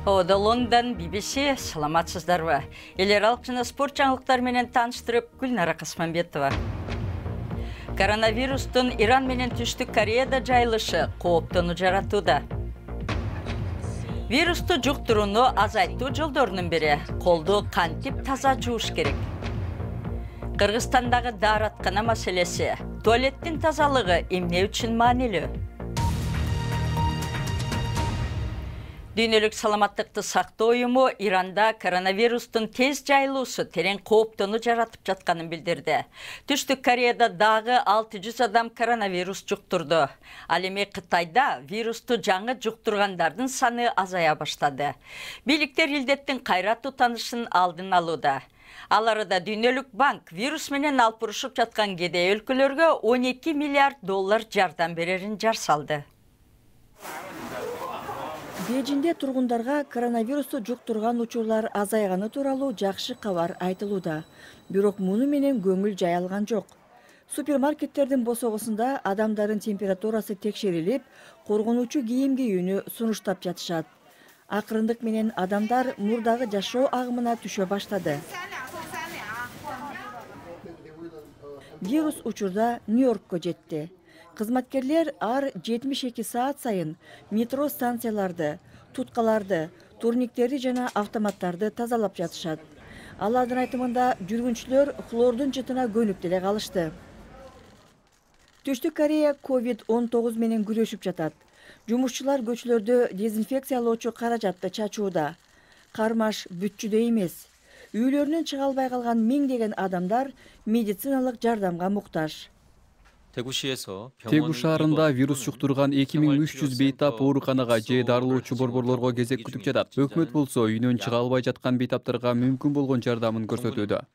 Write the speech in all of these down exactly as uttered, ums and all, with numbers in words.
Ода Лондон би би си, саламатсыздарбы. Элер алык жана спорт жаңылыктары менен тааныштырып, Гүлнара Касманбетова. Коронавирустун Иран менен Түштүк Кореяда жайылышы кооптону жаратууда. Вирусту жуктурууну азайтуу жолдорунун бири колду кантип таза жууш керек. Кыргызстандагы даараткана маселеси, туалеттин тазалыгы эмне үчүн маанилүү? Дүйнөлүк саламаттыкты сактоо уюму Иранда коронавирустун тез жайылуусу терең кооптону жаратып жатканын билдирди. Түштүк Кореяда дагы алты жүз адам коронавирус жуктурду. Ал эми Кытайда вирусту жаңы жуктургандардын саны азая баштады. Бийликтер илдеттин кайра тутанышын алдын алууда. Ал арада Дүйнөлүк банк вирус менен алпурушуп жаткан кедей өлкөлөргө он эки миллиард доллар жардам берерин жар салды. Бейжинде тургундарга коронавирусту жуктурган учурлар азайганы тууралуу жакшы кабар айтылууда. Бирок муну менен көңүл жай алган жок. Супермаркеттердин босогосунда адамдардын температурасы текшерилип, коргонуучу кийим кийүүнү сунуштап жатышат. Акырындык менен адамдар мурдагы жашоо агымына түшө баштады. Вирус учурда Нью-Йоркко жетти. Кызматкерлер ар жетимиш эки саат сайын метро станцияларды, туткаларды, турниктерди жана автоматтарды тазалап жатышат. Алардын айтымында жүргүнчүлөр хлордун жытына көнүп деле калышты. Түштүк Корея ковид он тогуз менен күрөшүп жатат. Жумушчулар көчөлөрдө дезинфекциялоочу каражатты чачууда. Кармаш бүтчүдөй эмес. Үйлөрүнөн чыга албай калган миңдеген адамдар медициналык жардамга муктаж. Тегу шаарында вирус жуктурган эки миң үч жүз бейтап ооруканага же дарылоочу борборлорго кезек күтүп жатат. Өкмөт болсо үйүнөн чыга албай жаткан бейтаптарга мүмкүн болгон жардамын көрсөтүүдө.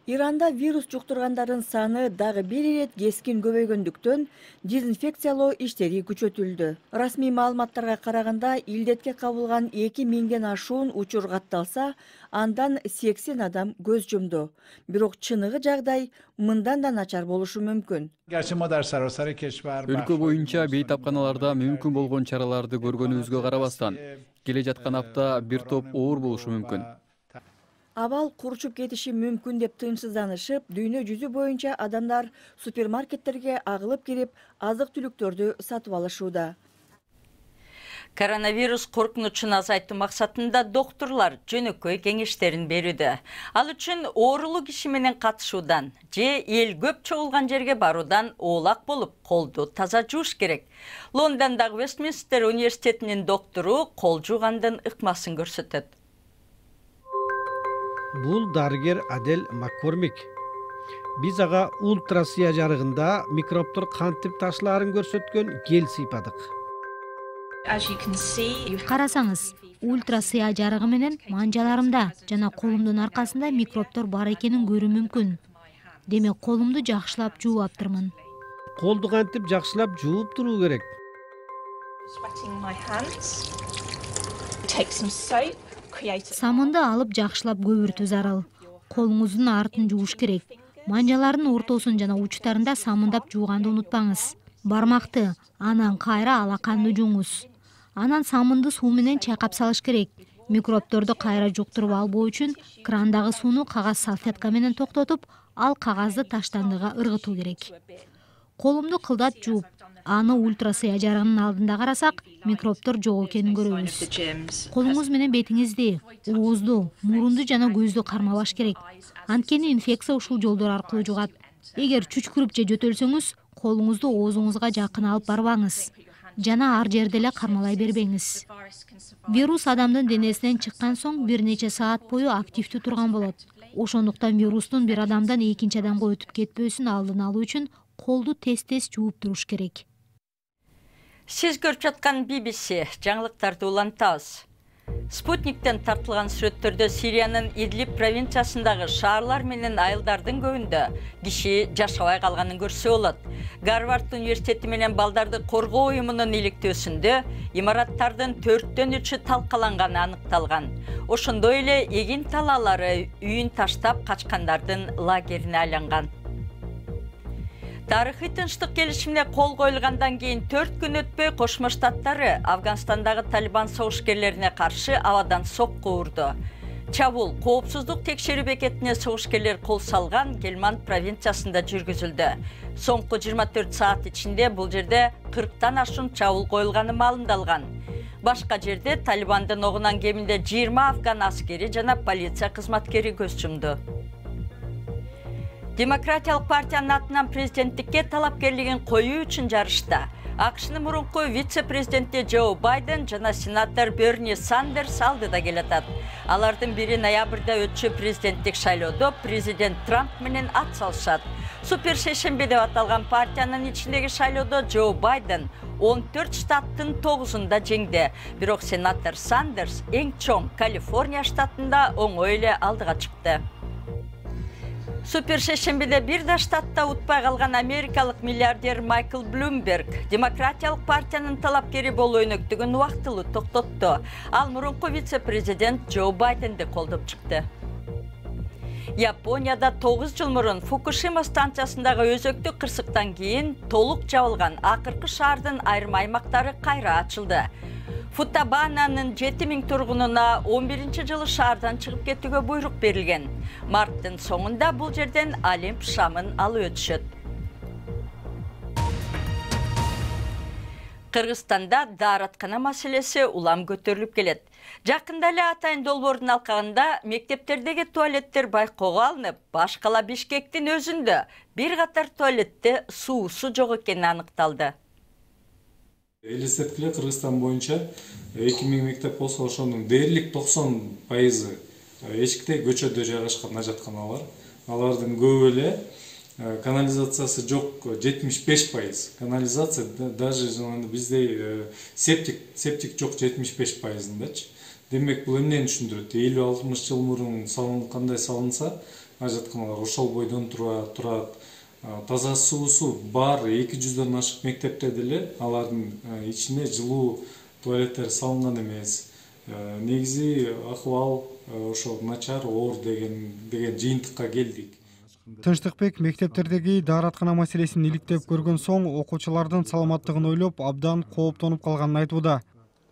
Иранда вирус жуктургандардын саны дагы бир ирет кескин көбөйгөндүктөн дезинфекциялоо иштери күчөтүлдү. Расмий маалыматтарга караганда илдетке кабылган эки миңден ашуун учур катталса, андан сексен адам көз жумду. Бирок чыныгы жагдай мындан да начар болушу мүмкүн. Өлкө боюнча бейтапканаларда мүмкүн болгон чараларды көргөнүбүзгө карабастан, келе жаткан апта бир топ оор болушу мүмкүн. Абал курчуп кетиши мүмкүн деп тынчсызданышып, дүйнө жүзү боюнча адамдар супермаркеттерге агылып кирип, азык-түлүктөрдү сатып алышууда. Коронавирус коркунучун азайтуу максатында доктурлар жөнөкөй кеңештерин берүүдө. Ал үчүн оорулуу киши менен катышуудан же эл көп чогулган жерге баруудан оолак болуп, колду таза жууш керек. Лондондагы Вестминстер университетинин доктору кол жуугандын ыкмасын көрсөтөт. Бул дарыгер Адел Маккормик. Биз ага ультрасыя жарыгында микробтор кантип ташылаарын көрсөткөн гель сыйпадык. Карасаңыз, ультрасыя жарыгы менен манжаларымда жана колумдун аркасында микробтор бар экенин көрүү мүмкүн. Демек, колумду жакшылап жууп аптырмын. Колду кантип жакшылап жууп туруу керек? Самынды алып жакшылап көбүртүү зарыл. Колуңуздун артын жууш керек. Манжалардын ортосун жана учтарында самындап жууганды унутпаңыз. Бармакты, анан кайра алаканды жууңуз. Анан самынды суу менен чайкап салыш керек. Микробторду кайра жуктуруп албоо үчүн крандагы сууну кагаз салфетка менен токтотуп, ал кагазды таштандыга ыргытуу керек. Колумду кылдат жууп, аны ультрасыя жарыгынын алдында карасак, микробтор жок экенин көрөбүз. Колуңуз менен бетиңизди, оозду, мурунду жана көздү кармабаш керек. Анткени инфекция ушул жолдор аркылуу жугат. Эгер чүчкүрүп же жөтөлсөңүз, колуңузду оозуңузга жакын алып барбаңыз. Жана ар жерде эле кармалай бербеңиз. Вирус адамдын денесинен чыккан соң бир нече саат бою активдүү турган болот. Ошондуктан вирустун бир адамдан экинчи адамга өтүп кетпөөсүн алдын алуу үчүн колду тез-тез жууп туруш керек. Сиз көрүп жаткан би би си жаңылыктарды улантабыз. Спутниктен тартылган сүрөттөрдө Сириянын Идлиб провинциясындагы шаарлар менен айылдардын көбүндө киши жашабай калганын көрсө болот. Гарвард университети менен балдарды коргоо уюмунун иликтөөсүндө имараттардын төрттөн үчү талкаланганы аныкталган. Ошондой эле эгин талаалары үйүн таштап качкандардын лагерине айланган. Тарыхый тынчтык келишимине кол коюлгандан кийин төрт күн өтпөй Кошмо Штаттары Афганстандагы Талибан согушкерлерине каршы абадан сокку урду. Чабул коопсуздук текшерүү бекетине согушкерлер кол салган Гельманд провинциясында жүргүзүлдү. Соңку жыйырма төрт саат ичинде бул жерде кырктан ашуун чабул коюлганы маалымдалган. Башка жерде Талибандын огунан кеминде жыйырма афган аскери жана полиция кызматкери көз жумду. Демократиялык партиянын атынан президенттикке талапкерлигин коюу үчүн жарышта АКШнын мурунку вице-президенти Джо Байден жана сенатор Берни Сандерс алдыда келатат. Алардын бири ноябрда өтчү президенттик шайлоодо президент Трамп менен ат салышат. Супер шешембе деп аталган партиянын ичиндеги шайлоодо Джо Байден он төрт штаттын тогузунда жеңди. Бирок сенатор Сандерс эң чоң Калифорния штатында оңой эле алдыга чыкты. Супер шешембеде бир да штатта утпай калган америкалык миллиардер Майкл Блумберг Демократиялык партиянын талапкери болуу өнөктүгүн убактылуу токтотту. Ал мурунку вице-президент Джо Байденди колдоп чыкты. Японияда тогуз жыл мурун Фукушима станциясындагы өзөктүк кырсыктан кийин толук жабылган акыркы шаардын айрым аймактары кайра ачылды. Футабананын жети миң тургунуна он биринчи жылы шаардан чыгып кетүүгө буйрук берилген. Марттын соңунда бул жерден Олимп шамын алып өтүшөт. Кыргызстанда даараткана маселеси улам көтөрүлүп келет. Жакында эле Атайын долбоордун алкагында мектептердеги туалеттер байкоого алынып, башкала Бишкектин өзүндө бир катар туалетте суусу жок экени аныкталды. Элестеткиле Кыргызстан боюнча эки миң мектеп болсо ошонун дээрлик токсон пайызы эчикте көчөдө жайгашкан ажатканалар. Алардын көбү эле канализациясы жок жетимиш беш пайыз. Канализация даже бизде септик септик жок жетимиш беш пайызындачы. Демек бул эмнени түшүндүрөт? элүү алтымыш жыл мурун салын кандай салынса, ажатканалар ошол бойдон турат. Таза суусу бар эки жүздөн ашык мектепте деле алардын ичине жылуу туалеттер салынган эмес. Негизи акыбал ошо начар, оор деген деген жыйынтыкка келдик. Тынчтыкбек мектептердеги даараткана маселесин иликтеп көргөн соң окуучулардын саламаттыгын ойлоп абдан кооптонуп калганын айтууда.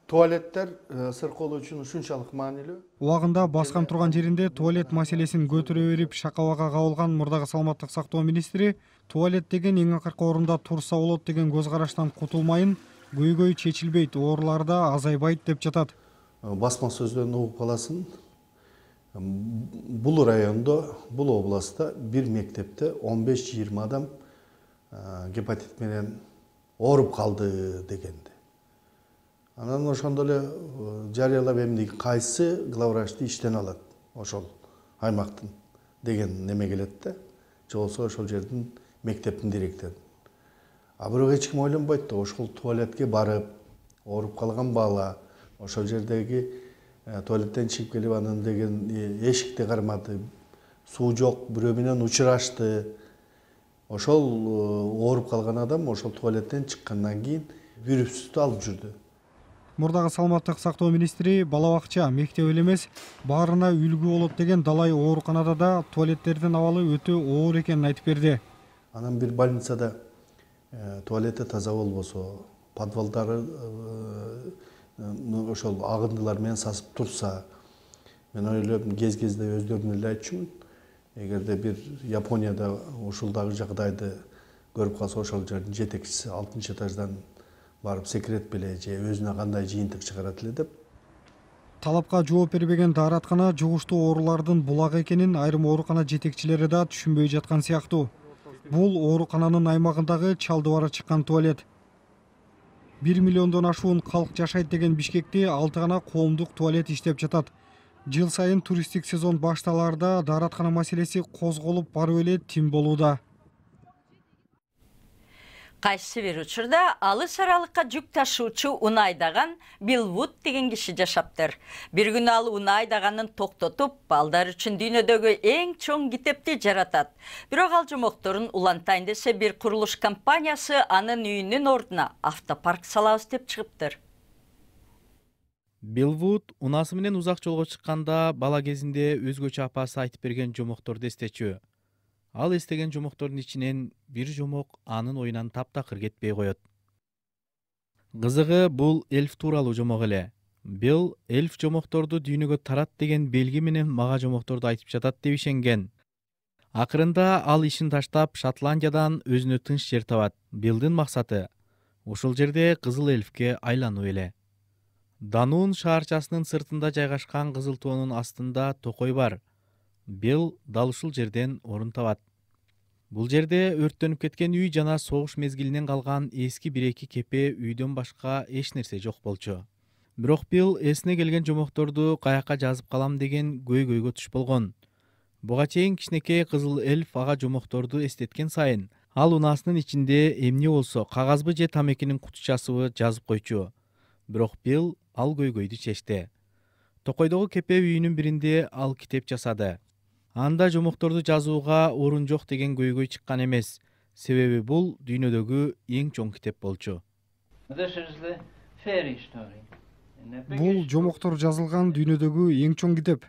Туалеттер сыркоолоо үчүн ушунчалык маанилүү. Убагында баскан турган жеринде туалет маселесин көтөрө берип шакабага кабылган мурдагы саламаттык сактоо министри туалет деген эң акыркы орунда турса болот деген көз караштан кутулмайын, көйгөй чечилбейт, оорулар да азайбайт деп жатат. Басма сөздөн угуп каласың. Бул райондо, бул областта бир мектепте он беш жыйырма адам гепатит менен ооруп калды дегенди. Анан ошондо эле жарыялап эмне кайсы главврачты иштен алат ошол аймактын деген неме келет да. Же болсо ошол жердин мектептин директору. А бирок эч ким ойлонбойт да, ошол туалетке барып ооруп калган бала ошол жердеги туалеттен чыгып келип анан деген эшикти кармады, суу жок, бирөө менен учурашты. Ошол ооруп калган адам ошол туалеттен чыккандан кийин вирусту алып жүрдү. Мурдагы саламаттык сактоо министри бала бакча, мектеп эле эмес, баарына үлгү болот деген далай ооруканада да туалеттердин абалы өтө оор экенин айтып берди. Анан бир больницада туалети таза болбосо, подвалдары ошол агындылар менен сасып турса, мен ойлойм кез-кезде өздөрүнө эле айтчумун. Эгерде бир Японияда ушулдагы жагдайды көрүп калса, ошол жердин жетекчиси алтынчы этаждан барып секрет беле же өзүнө кандай жыйынтык чыгарат эле деп. Талапка жооп бербеген даараткана жугуштуу оорулардын булагы экенин айрым оорукана жетекчилери да түшүнбөй жаткан сыяктуу. Бул оорукананын аймагындагы чалдыбары чыккан туалет. бир миллиондон ашуун калк жашайт деген Бишкекте алты гана коомдук туалет иштеп жатат. Жыл сайын туристтик сезон башталаарда даараткана маселеси козголуп барып эле тим болууда. Кайсы бир учурда алыс аралыкка жүк ташуучу унаа айдаган Билл Вуд деген киши жашаптыр. Бир күнү ал унаа айдаганын токтотуп, балдар үчүн дүйнөдөгү эң чоң китепти жаратат. Бирок ал жомокторун улантайын десе, бир курулуш компаниясы анын үйүнүн ордуна автопарк салабыз деп чыгыптыр. Билл Вуд унаасы менен узак жолго чыкканда бала кезинде өзгөчө апасы айтып берген жомокторду эстечү. Ал эстеген жомоктордун ичинен бир жомок анын оюнан таптакыр кетпей коет. Кызыгы бул эльф тууралуу жомок эле. Билл эльф жомокторду дүйнөгө тарат деген белги менен мага жомокторду айтып жатат деп ишенген. Акырында ал ишин таштап Шотландиядан өзүнө тынч жер табат. Биллдин максаты ушул жерде кызыл эльфке айлануу эле. Дануун шаарчасынын сыртында жайгашкан кызыл тоонун астында токой бар. Билл дал ушул жерден орун табат. Бул жерде өрттөнүп кеткен үй жана согуш мезгилинен калган эски бир-эки кепе үйдөн башка эч нерсе жок болчу. Бирок Билл эсине келген жомокторду каяка жазып калам деген көйгөйгө туш болгон. Буга чейин кичинекей кызыл эльф ага жомокторду эстеткен сайын ал унаасынын ичинде эмне болсо кагазбы же тамекинин кутучасыбы жазып койчу. Бирок Билл ал көйгөйдү чечти. Токойдогу кепе үйүнүн биринде ал китеп жасады. Анда жомокторду жазууга орун жок деген көйгөй чыккан эмес. Себеби бул дүйнөдөгү эң чоң китеп болчу. Бул жомоктор жазылган дүйнөдөгү эң чоң китеп.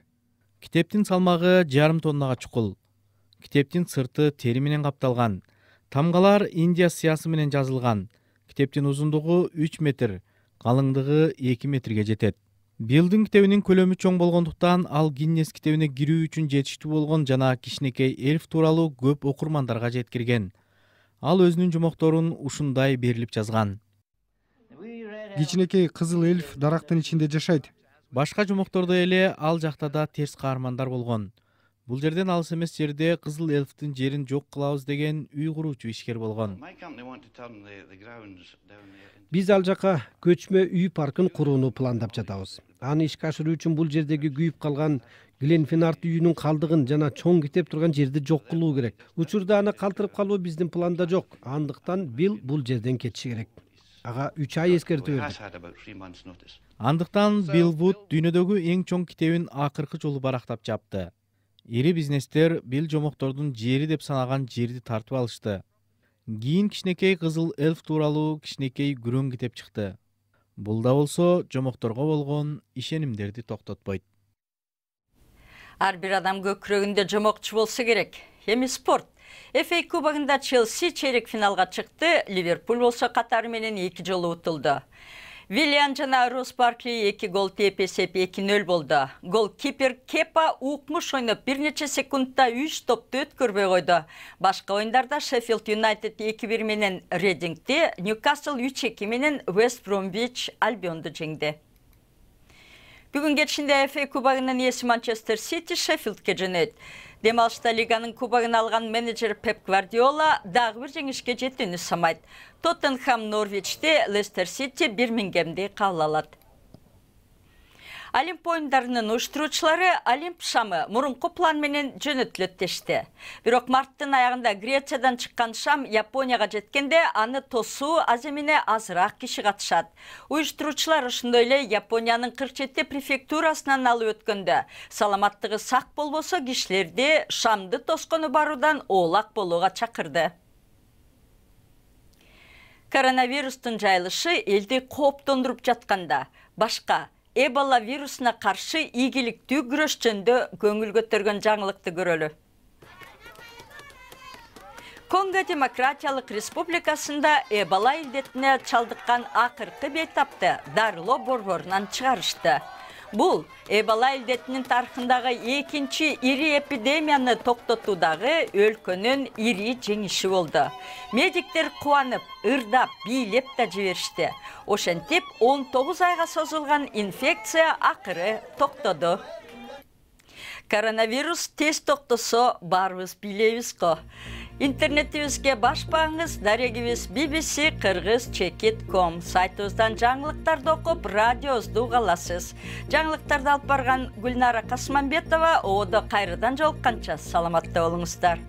Китептин салмагы жарым тоннага чукул. Китептин сырты тери менен капталган. Тамгалар Индия сыясы менен жазылган. Китептин узундугу үч метр, калыңдыгы эки метрге жетет. Биллдин китебинин көлөмү чоң болгондуктан ал Гиннес китебине кирүү үчүн жетиштүү болгон жана кичинекей эльф тууралуу көп окурмандарга жеткирген. Ал өзүнүн жомокторун ушундай берилип жазган. Кичинекей кызыл эльф дарактын ичинде жашайт. Башка жомоктордой эле ал жакта да терс каармандар болгон. Бул жерден алыс эмес жерде кызыл эльфтин жерин жок кылабыз деген үй куруучу ишкер болгон. Биз ал жака көчмө үй паркын курууну пландап жатабыз. Аны ишке ашыруу үчүн бул жердеги күйүп калган Гленфинарт үйүнүн калдыгын жана чоң китеп турган жерди жок кылуу керек. Учурда аны калтырып калуу биздин планда жок. Андыктан Билл бул жерден кетиши керек. Ага үч ай эскертүү бердик. Андыктан Билл Вуд дүйнөдөгү эң чоң китебин акыркы жолу барактап жапты. Ири бизнестер Билл жомоктордун жери деп санаган жерди тартып алышты. Кийин кичинекей кызыл эльф тууралуу кичинекей күрөң китеп чыкты. Бул да болсо жомокторго болгон ишенимдерди токтотпойт. Ар бир адам көкүрөгүндө жомокчу болсо керек. Эми спорт. эф эй кубогунда Челси чейрек финалга чыкты, Ливерпуль болсо катары менен эки жолу утулду. Виллиан жана Росс Баркли эки гол тээп эсеп эки нөл болду. Голкипер Кепа укмуш ойноп бир нече секундда үч топту өткөрбөй койду. Башка оюндарда Шеффилд Юнайтед эки бир менен Редингди, Ньюкасл үч эки менен Вест Бромвич Альбионду жеңди. Бүгүн кечинде эф эй кубогунун ээси Манчестер Сити Шеффилдке жөнөйт. Дем алышта лиганын кубогун алган менеджер Пеп Гвардиола дагы бир жеңишке жетүүнү самайт. Тоттенхэм Норвичти, Лестер Сити Бирмингемди кабыл алат. Олимп оюндарынын уюштуруучулары Олимп шамы мурунку план менен жөнөтүлөт дешти. Бирок марттын аягында Грециядан чыккан шам Японияга жеткенде аны тосуу аз эмне азыраак киши катышат. Уюштуруучулар ошондой эле Япониянын кырк жети префектурасынан алып өткөндө саламаттыгы сак болбосо кишилерди шамды тоскону баруудан оолак болууга чакырды. Коронавирустун жайылышы элди кооптондуруп жатканда башка Эбола вирусуна каршы ийгиликтүү күрөш жөнүндө көңүл көтөргөн жаңылыкты көрөлү. Конго Демократиялык Республикасында Эбола илдетине чалдыккан акыркы бейтапты дарылоо борборунан чыгарышты. Бул Эбола илдетинин тарыхындагы экинчи ири эпидемияны токтотуудагы өлкөнүн ири жеңиши болду. Медиктер кубанып, ырдап, бийлеп да жиберишти. Ошентип он тогуз айга созулган инфекция акыры токтоду. Коронавирус тез токтосо баарыбыз бийлейбиз го. Интернетибизге баш багыңыз дарегибиз би би си кыргыз чекит точка ком сайтыбыздан жаңылыктарды окуп, радиобузду уга аласыз. Жаңылыктарды алып барган Гүлнара Касманбетова, оодо кайрадан жолукканча саламатта болуңуздар.